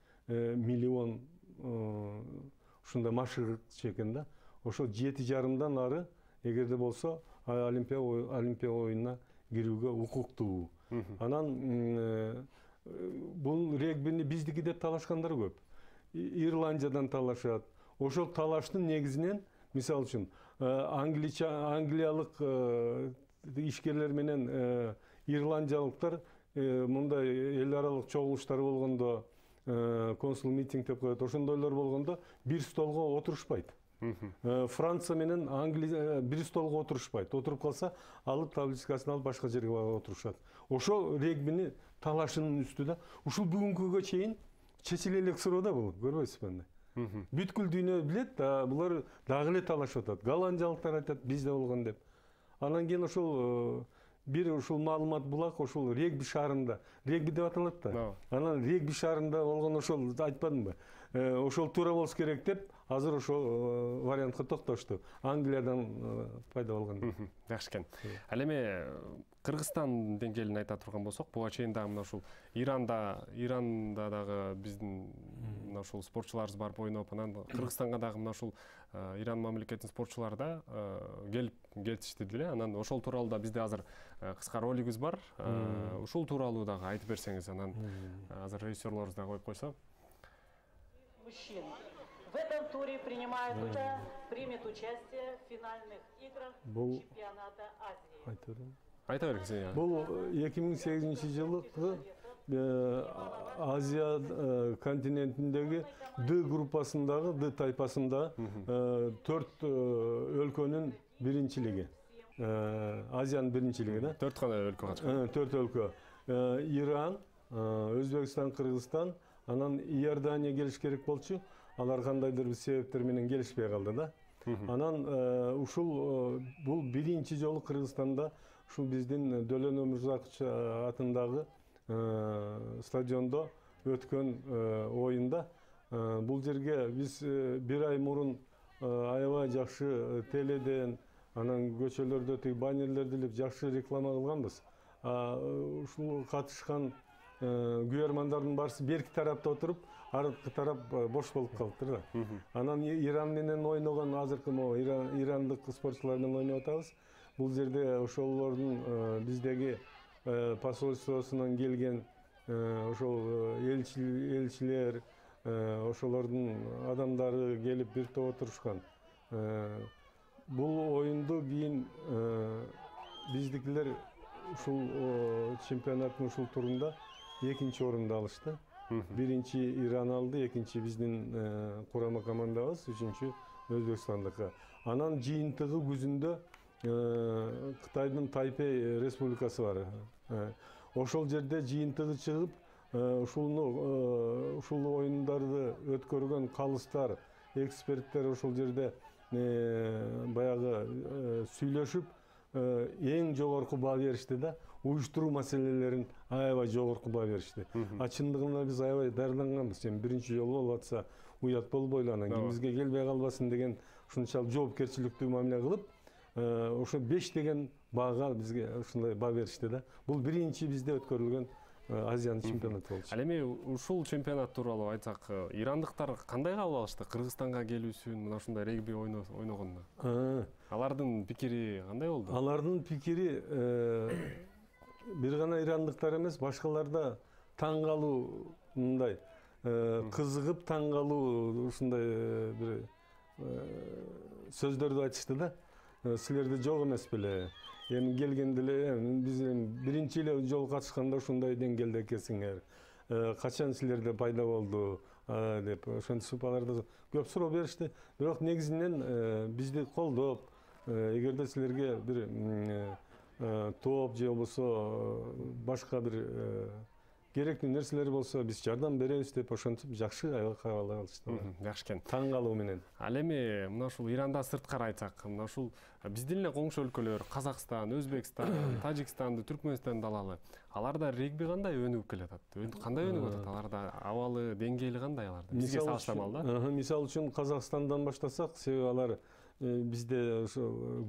миллион ушундай машык экен да. Ошол 7,5-дан ары эгерде болсо Олимпия оюнуна кирүүгө укуктуу. Анан бул регбини биздики деп талашкандар көп. Ирландиядан талашат. Ошол талаштын негизинен, мисалы үчүн, англиялык ишкерлер менен ирландиялыктар мындай эл аралык чогулуштар болгондо, консул митинг деп коет, ошондойлор болгондо бир столго отурушпайт. Франция менен Англия бир столго отурушпайт. Отуруп калса, алып табличкасын алып башка жерге отурушат. Ошол регбини талашынын үстү да. Ушул бүгүнкүгө чейин чечиле элек суроо да бул, көрбөйсүзбү? Бүткүл дүйнө билет, булар дагы эле талашып атат. Голландиялыктар айтат, бизде болгон деп. Анан кийин ошол бир ушул маалымат булак ошол регби шаарында, регби деп аталат да. Анан регби шаарында болгон ошол айтпадымбы? Ошол туура болуш керек деп, азыр ошол вариантка токтошту. Англиядан пайда болгон. Жакшы экен. Ал эми Кыргызстан деңгээлин айта турган болсок, буга чейин дагы мына ушул Иранда дагы биздин мына ушул спортчуларыбыз барып ойноп, анан Кыргызстанга дагы мына ушул Иран мамлекетинин спортчулары да келишти деле. Анан ошол тууралуу да бизде азыр кыска ролигибиз бар. Ушул тууралуу дагы айтып берсеңиз, анан азыр режиссерлорубуз да коюп койсо. Мужчин в этом туре примет участие в финальных играх чемпионата Азии. Айта бериңиз. Бул 2008 жылы Азия континентиндеги Д группасындагы, Д тайпасында 4 өлкөнүн биринчилиги. Азиянын биринчилиги да. 4 гана өлкө катышкан. 4 өлкө. Иран, Өзбекстан, Кыргызстан, анан Иордания келиш керек болчу. Алар кандайдыр бир себептер менен келишпей калды да. Анан ушул бул биринчи жолу Кыргызстанда ушул биздин Дөлөн Өмүрзакович атындагы стадиондо өткөн оюнда. Бул жерге биз бир ай мурун аябай жакшы теледен, анан көчөлөрдө тиги баннерлерди илип жакшы реклама кылганбыз. Ушул катышкан күйөрмандардын баарысы берки тарапта отуруп, аркы тарап бош болуп калыптыр да. Анан Иран менен ойногон азыркы ирандык спортчулар менен ойноп атабыз. Бул жерде ошолордун биздеги посольствосунан келген ошол элчилер, ошолордун адамдары келип бир топ отурушкан. Бул оюнду кийин биздикилер ушул чемпионаттын ушул турунда 2-нчи орунду алышты. Биринчи Иран алды, экинчи биздин курама командабыз, үчүнчү Өзбекстандыкы. Анан жыйынтыгы күзүндө Кытайдын Тайпей республикасы бар. Ошол жерде жыйынтыгы чыгып, ушул оюндарды өткөргөн калыстар, эксперттер ошол жерде баягы сүйлөшүп, эң жогорку баа беришти да, уюштуруу маселелерин аябай жогорку баа беришти. Чындыгында биз аябай даярданганбыз. Биринчи жолу болуп атса уят болбойлу, анан ким бизге келбей калбасын деген ушунчалык жоопкерчиликтүү мамиле кылып, ошо 5 деген баага бизге ушундай баа беришти да. Бул биринчи бизде өткөрүлгөн Азиянын чемпионаты болчу. Ал эми ушул чемпионат тууралуу айтсак, ирандыктар кандай кабыл алышты Кыргызстанга келүүсүн, мына ушундай регби ойногонуна? Алардын пикири кандай болду? Алардын пикири бир гана ирандыктар эмес, башкалар да таң калуу, мындай кызыгып таң калуу ушундай бир сөздөрдү айтышты да. Силерде жок эмес беле? Эми келгенде эле биз биринчи эле жолу катышканда ушундай деңгээлде экенсиңер. Качан силерде пайда болду деп ошентип аларды көп суроо беришти. Бирок негизинен бизди колдоп, эгерде силерге бир топ же болбосо башка бир керектүү нерселер болсо биз жардам беребиз деп ошентип жакшы аябай кабыл алышты. Жакшы экен. Таң калуу менен. Ал эми мына ушул Ирандан сырткары айтсак, мына ушул биздин эле коңшу өлкөлөр Казакстан, Өзбекстан, Тажикстанды, Түркмөнстанды алалы. Аларда регби кандай өнүгүп келатат? Кандай өнүгүп атат? Аларда абалы, деңгээли кандай аларда? Бизге салыштырмалуу да? Мисалы үчүн Казакстандан баштасак, себеби алар бизде ошо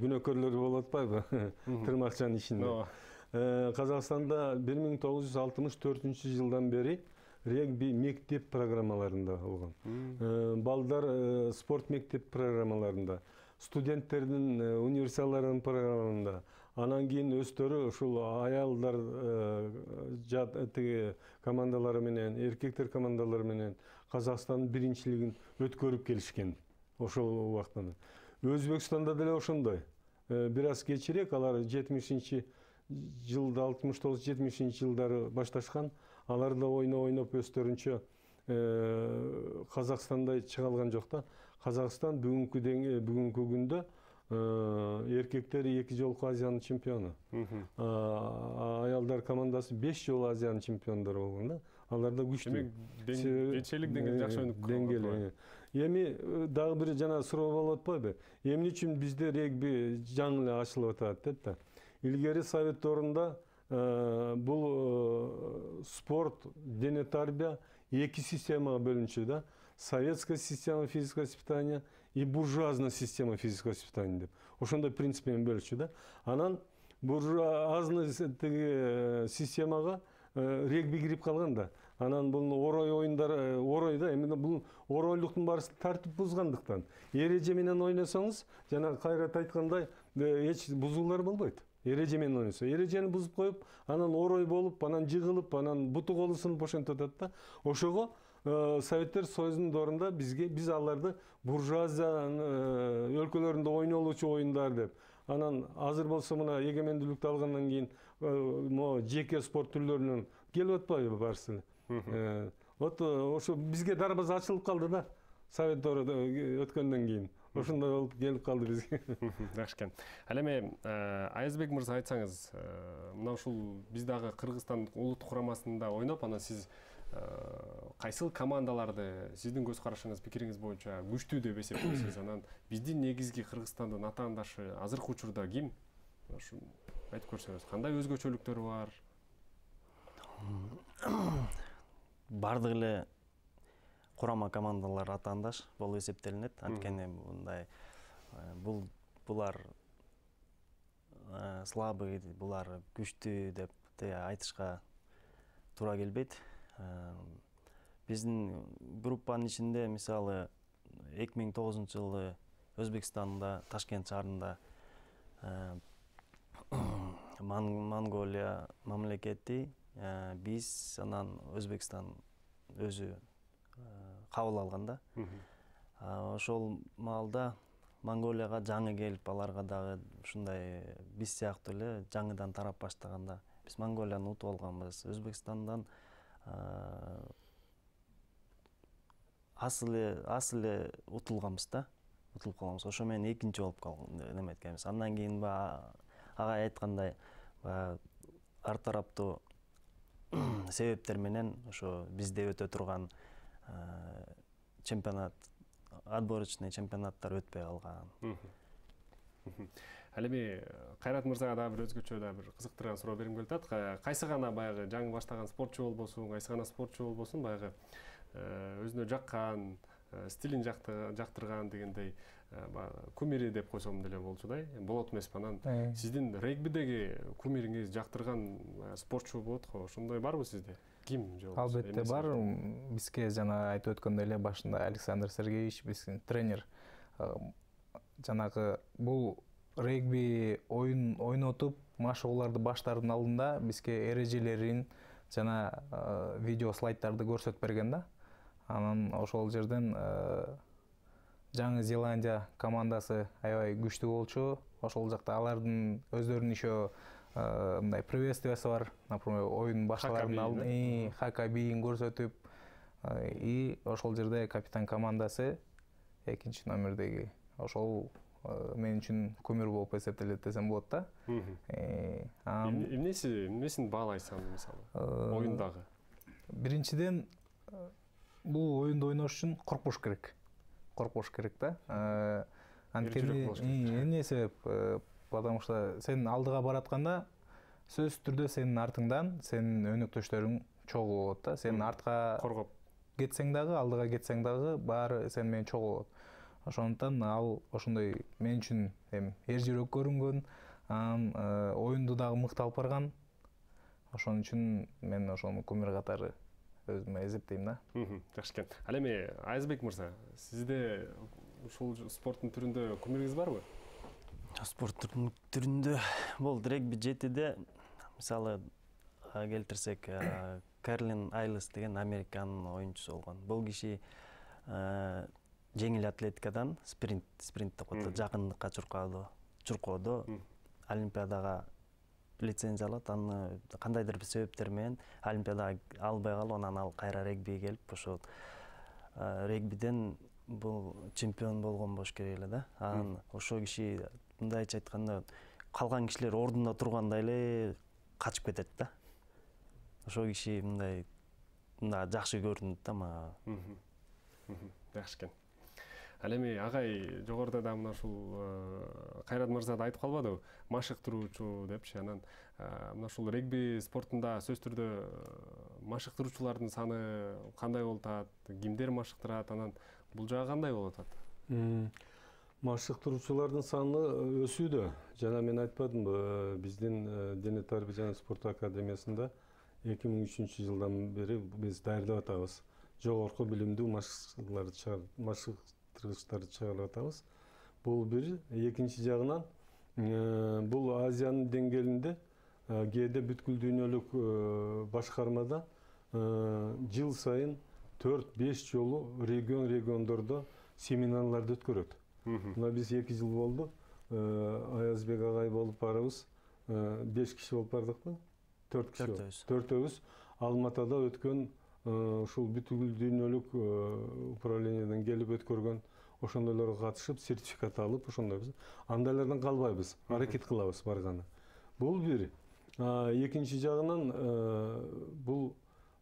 күнөөкөрлөр болуп атпайбы? Тырмакчанын ишинде. Казакстанда 1964-жылдан бери регби мектеп программаларында болгон. Балдар спорт мектеп программаларында, студенттердин универсиадаларынын программаларында, анан кийин өздөрү ушул аялдар тиги командалары менен, эркектер командалары менен Казакстандын биринчилигин өткөрүп келишкен ошол убакта. Өзбекстанда деле ошондой. Бир аз кечирээк алар 70-жылда 69-70 жылдары башташкан. Алар да ойноп өздөрүнчө Казакстандай чыга алган жок да. Казакстан бүгүнкү күндө эркектер 2 жолку Азиянын чемпиону. Аялдар командасы 5 жолу Азиянын чемпиондору болгон да. Алар да күчтүү. Жетишелик деңгээлде жакшы өнүгүп калган. Эми дагы бир жана суроо болуп атпайбы? Эмне үчүн бизде регби жаңы эле ачылып атат деп да. Илгери совет орунда бул спорт, дене тарбия 2 системага бөлүнчү да. Советская система физического воспитания и буржуазная система физического воспитания деп. Ошондой принцип менен бөлүнчү да. Анан буржуазный системага регби кирип калган да. Анан бул орой оюндары, орой да, эми бул оройлуктун баарысы тартип бузгандыктан. Эреже менен ойносоңуз, жана Кайрат айткандай, эч бузуулар болбойт. Эреже менен ойносо, эрежени бузуп коюп, анан орой болуп, анан жыгылып, анан буту колу сынып ошентип атат да. Ошого Советтер Союзунун доорунда биз аларды буржуазия өлкөлөрүндө ойнолуучу оюндар деп. Анан азыр болсо мына эгемендүүлүктү алгандан кийин могу жеке спорт түрлөрүнөн келип атпайбы баарысы эле. Вот ошо бизге дарбаза ачылып калды да. Совет доору өткөндөн кийин. Ошондой болуп келип калды бизге. Жакшы экен. Ал эми Аязбек мырза айтсаңыз, мына ушул биз дагы Кыргызстан улуттук курамасында ойноп, анан сиз кайсыл командаларды сиздин көз карашыңыз, пикириңиз боюнча күчтүү деп эсептейсиз? Анан биздин негизги Кыргызстандын атаандашы азыркы учурда ким? Ушу айтып көрсөңүз, кандай өзгөчөлүктөрү бар? Бардык эле курама командалар атаандаш болуп эсептелинет. Анткени мындай булар слабый, булар күчтүү деп айтышка туура келбейт. Биздин группанын ичинде мисалы 2009-жылы Өзбекстанда, Ташкент шаарында Монголия мамлекети, биз анан Өзбекстан өзү кабыл алган да. Ошол маалда Монголияга жаңы келип, аларга дагы ушундай биз сыяктуу эле жаңыдан тарап баштаганда биз Монголияны утуп алганбыз. Өзбекстандан асыл эле утулганбыз да. Утулуп калганбыз. Ошо менен экинчи болуп неме эткенбиз. Андан кийин агай айткандай ар тараптуу себептер менен ошо бизде өтө турган чемпионат, отборочный чемпионаттар өтпөй калган. Ал эми Кайрат мырзага дагы бир өзгөчө да бир кызыктырган суроо бергим келип атат. Кайсы гана баягы жаңы баштаган спортчу болбосун, кайсы гана спортчу болбосун, баягы өзүнө жаккан, стилин жактырган дегендей кумири деп койсом деле болчудай. Болот эмеспи? Анан сиздин регбидеги кумириңиз, жактырган спортчу болот го. Ошондой барбы сизде? Ким же болбосо? Албетте бар. Бизге жана айтып өткөндөй эле башында Александр Сергеевич, биздин тренер, жанагы бул регби ойнотуп, машыгууларды баштаардын алдында бизге эрежелерин жана видео слайдтарды көрсөтүп берген да. Анан ошол жерден Жаңы Зеландия командасы аябай күчтүү болчу. Ошол жакта алардын өздөрүнүн еще мындай приветствиясы бар. Например, оюн башталардан алдын хака бийин көрсөтүп, и ошол жерде капитан командасы экинчи номердеги ошол мен үчүн кумир болуп эсептелет десем болот да. Эмнесин баалайсың мисалы оюндагы? Биринчиден бул оюнду ойнош үчүн коркпош керек. Коркпош керек да. Анткени эмне себеп? Потому что сен алдыга баратканда сөзсүз түрдө сенин артыңдан сенин өнөктөштөрүң чогуу болот да. Сен артка коргоп кетсең дагы, алдыга кетсең дагы баары сен менен чогуу болот. Ошондуктан ал ошондой мен үчүн эр жүрөк көрүнгөн, оюнду дагы мыкты алып барган. Ошон үчүн мен ошону кумир катары өзүмө эсептейм да. Жакшы экен. Ал эми Айзбек мырза, сизде ушул спорттун түрүндө кумириңиз барбы? Спорттун түрүндө болду регби 7де мисалы келтирсек, Карлин Айлес деген Американын оюнчусу болгон. Бул киши жеңил атлетикадан спринт деп коет, жакындыкка чуркоодо Олимпиадага лицензия алат. Аны кандайдыр бир себептер менен Олимпиадага албай калып, анан ал кайра регбиге келип, ошо регбиден бул чемпион болгон болуш керек эле да. Анан ошо киши мындайча айтканда калган кишилер ордунда турганда эле качып кетет да. Ошо киши мындай жакшы көрүнөт да мага. Жакшы экен. Ал эми агай жогоруда да мына ушул Кайрат мырза да айтып калбадыбы? Машыктыруучу депчи. Анан мына ушул регби спортунда сөзсүз түрдө машыктыруучулардын саны кандай болуп атат? Кимдер машыктырат? Анан бул жагы кандай болуп атат? Машыктыруучулардын саны өсүүдө. Жана мен айтпадымбы, биздин Дене тарбия жана спорт академиясында 2003 жылдан бери биз даярдап атабыз. Жогорку билимдүү машыктыргычтарды чыгарып атабыз. Бул бир. Экинчи жагынан бул Азиянын деңгээлинде кээде бүткүл дүйнөлүк башкармада жыл сайын 4-5 жолу региондордо семинарларды өткөрөт. Мына биз 2 жыл болду. Аязбек агай болуп барабыз. 5 киши болуп бардыкпы? 4 киши. 4-өбүз Алматада өткөн ушул бүткүл дүйнөлүк управлениядан келип өткөргөн ошондойлорго катышып, сертификат алып, ошондойбуз. Андайлардан калбайбыз, аракет кылабыз барганы. Бул бир. Экинчи жагынан бул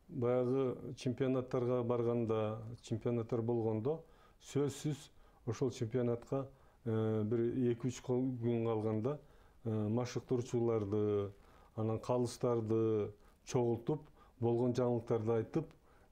баягы чемпионаттарга барганда, чемпионаттар болгондо сөзсүз ошол чемпионатка бир 2-3 күн калганда машыктыруучуларды, анан калыстарды чогултуп, болгон жаңылыктарды айтып,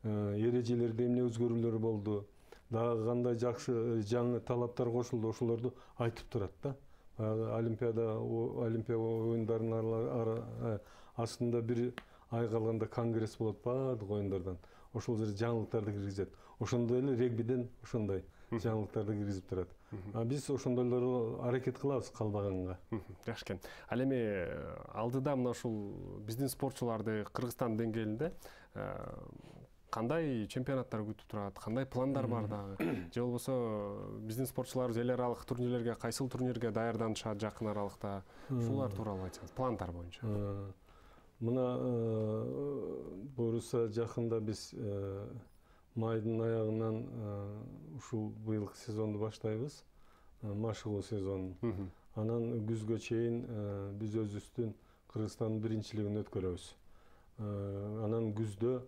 эрежелерде эмне өзгөрүүлөр болду, дагы кандай жакшы жаңы талаптар кошулду, ошолорду айтып турат да. Олимпиада оюндарынын астында бир ай калганда конгресс болот баардык оюндардан. Ошол жерде жаңылыктарды киргизет. Ошондой эле регбиден ошондой. жаңылыктарды киргизип турат. Биз ошондойлорго аракет кылабыз калбаганга. Жакшы экен. Ал эми алдыда мына ушул биздин спортчуларды Кыргызстан деңгээлинде кандай чемпионаттар күтүп турат, кандай пландар бар дагы? Же болбосо биздин спортчуларыбыз эл аралык турнирлерге, кайсыл турнирге даярданышат жакын аралыкта? Ушулар тууралуу айтсаңыз, пландар боюнча. Мына буюрса жакында биз майдын аягынан ушул быйылкы сезонду баштайбыз, машыгуу сезонун. Анан күзгө чейин биз өзүбүздүн Кыргызстандын биринчилигин өткөрөбүз. Анан күздө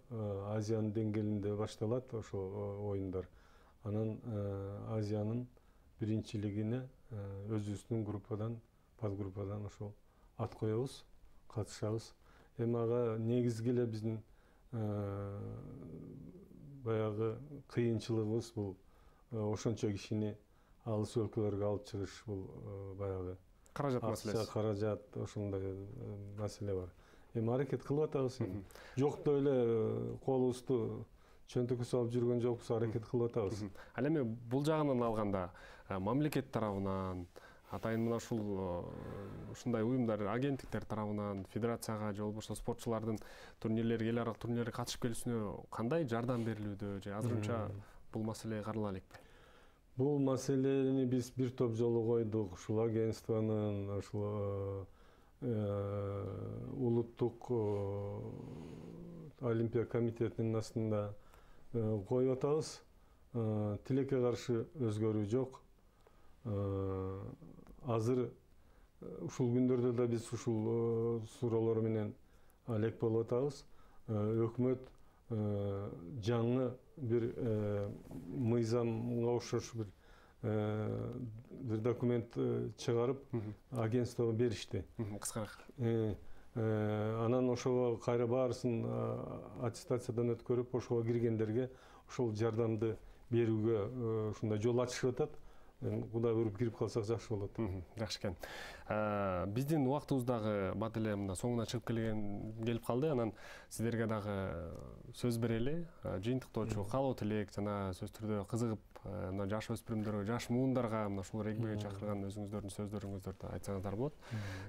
Азиянын деңгээлинде башталат ошо оюндар. Анан Азиянын биринчилигине өзүбүздүн группадан, подгруппадан ошо ат коебуз, катышабыз. Эми ага негизги эле биздин баягы кыйынчылыгыбыз бул ошончо кишини алыс өлкөлөргө алып чыгыш, бул баягы каражат маселеси. Каражат, ошондой маселе бар. Эми аракет кылып атабыз. Жокто эле колубузду чөнтөккө салып жүргөн жокпуз, аракет кылып атабыз. Ал эми бул жагынан алганда мамлекет тарабынан, атайын мына ушундай уюмдар, агенттиктер тарабынан федерацияга же болбосо спортчулардын турнирлерге, эл аралык турнирлерге катышып келүүсүнө кандай жардам берилүүдө, же азырынча бул маселе карала элекпи? Бул маселени биз бир топ жолу койдук. Ушул агентствонун, ушул улуттук олимпия комитетинин астында коюп атабыз. Тилекке каршы өзгөрүү жок. Азыр ушул күндөрдө да биз ушул суроолор менен алек болуп атабыз. Өкмөт жаңы бир мыйзамга окшош бир документ чыгарып агентствого беришти. Кыскараак. Анан ошого кайра баарысын аттестациядан өткөрүп, ошого киргендерге ошол жардамды берүүгө ушундай жол ачышып атат. Кудай буйруп кирип калсак жакшы болот. Жакшы экен. Биздин убактыбыз дагы бат эле мына соңуна чыгып келип калды. Анан сиздерге дагы сөз берели. Жыйынтыктоочу каалоо тилек жана сөз түрдө кызыгып мына жаш өспүрүмдөргө, жаш муундарга мына ушул регбиге чакырган өзүңүздөрдүн сөздөрүңүздөрдү айтсаңыздар болот.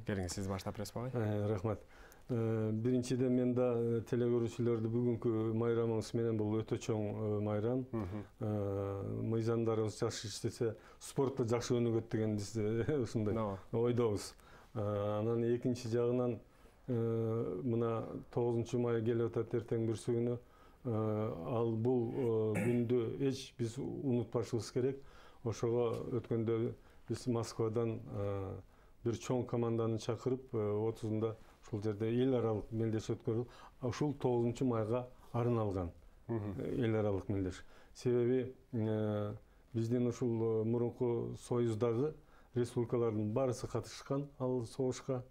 Келиңиз, сиз баштап бересиз агай. Рахмат. Биринчиден мен да телекөрүүчүлөрдү бүгүнкү майрамыңыз менен, бул өтө чоң майрам. Мыйзамдарыбыз жакшы иштесе, спортто жакшы өнүгөт деген биз ушундай ойдобуз. Анан экинчи жагынан мына 9-май келип атат, эртең бүрсү күнү. Ал бул күндү эч биз унутпашыбыз керек. Ошого өткөндө биз Москвадан бир чоң команданы чакырып, 30-да ушул жерде эл аралык мелдеш өткөрүлүп, ушул 9-майга арналган эл аралык мелдеш. Себеби биздин ушул мурунку союздагы республикалардын баарысы катышкан ал согушка.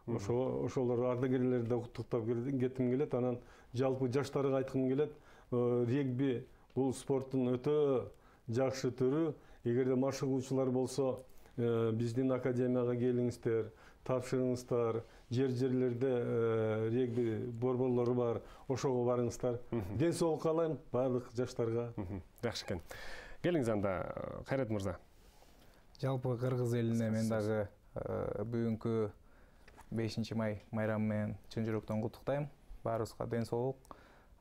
Ошолор ардагерлерди куттуктап кетким келет. Анан жалпы жаштарга айткым келет, регби бул спорттун өтө жакшы түрү. Эгерде машыгуучулар болсо, биздин академияга келиңиздер, тапшырыңыздар. Жерлерде регби борборлору бар, ошого барыңыздар. Ден соолук каалайм баардык жаштарга. Жакшы экен. Келиңиз анда, Кайрат мырза. Жалпы кыргыз элине мен дагы бүгүнкү 5-май майрамы менен чын жүрөктөн куттуктайм. Баарыбызга ден соолук.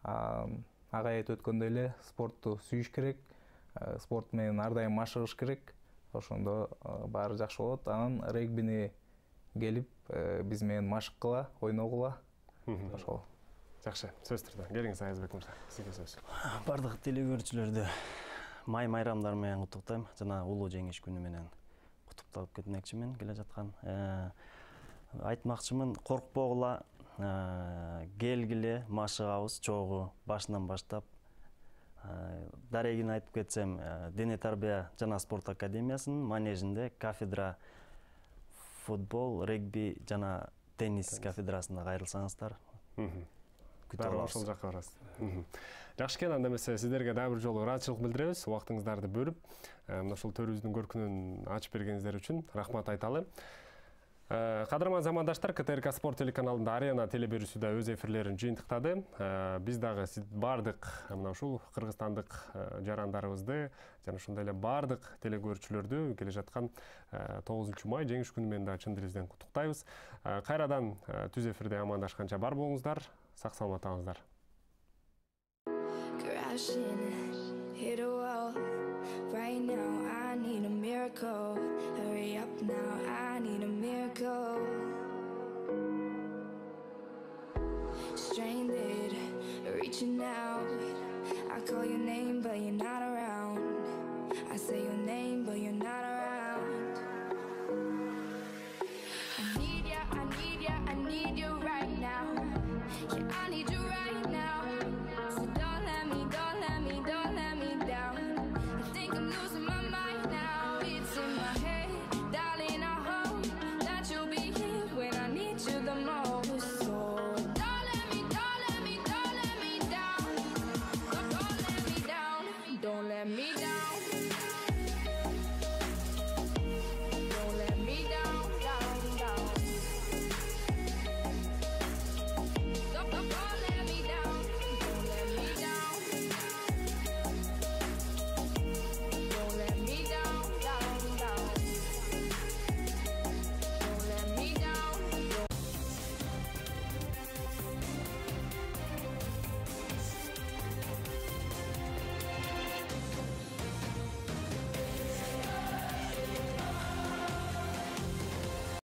Агай айтып өткөндөй эле спортту сүйүш керек, спорт менен ар дайым машыгыш керек. Ошондо баары жакшы болот. Анан регбини келип биз менен машыккыла, ойногула. Ошол. Жакшы, сөз түрдө. Келиңиз Аязбек мырза, сизге сөз. Бардык телекөрүүчүлөрдү май майрамдар менен куттуктайм. Жана улуу жеңиш күнү менен куттуктап кетмекчимин келе жаткан. Айтмакчымын, коркпогула, келгиле, машыгабыз чогуу башынан баштап. Дарегин айтып кетсем, Дене тарбия жана спорт академиясынын манежинде кафедра футбол, регби жана теннис кафедрасына кайрылсаңыздар. Дагы ошол жакка барасыз. Жакшы экен, анда эмесе сиздерге дагы бир жолу ыраазычылык билдиребиз. Убактыңыздарды бөлүп, мына ушул төрүбүздүн көркүнөн ачып бергениңиздер үчүн рахмат айталы. Кадырман замандаштар, КТРК спорт телеканалында Арена телеберүүсү да өз эфирлерин жыйынтыктады. Биз дагы бардык мына ушул кыргызстандык жарандарыбызды жана ошондой эле бардык телекөрүүчүлөрдү келе жаткан 9 май жеңиш күнү менен да чын дилибизден куттуктайбыз. Кайрадан түз эфирде амандашканча бар болуңуздар, сак саламаттаңыздар. Right now, I need a miracle. Hurry up now, I need a miracle. Stranded, reaching out. I call your name, but you're not around. I say your name.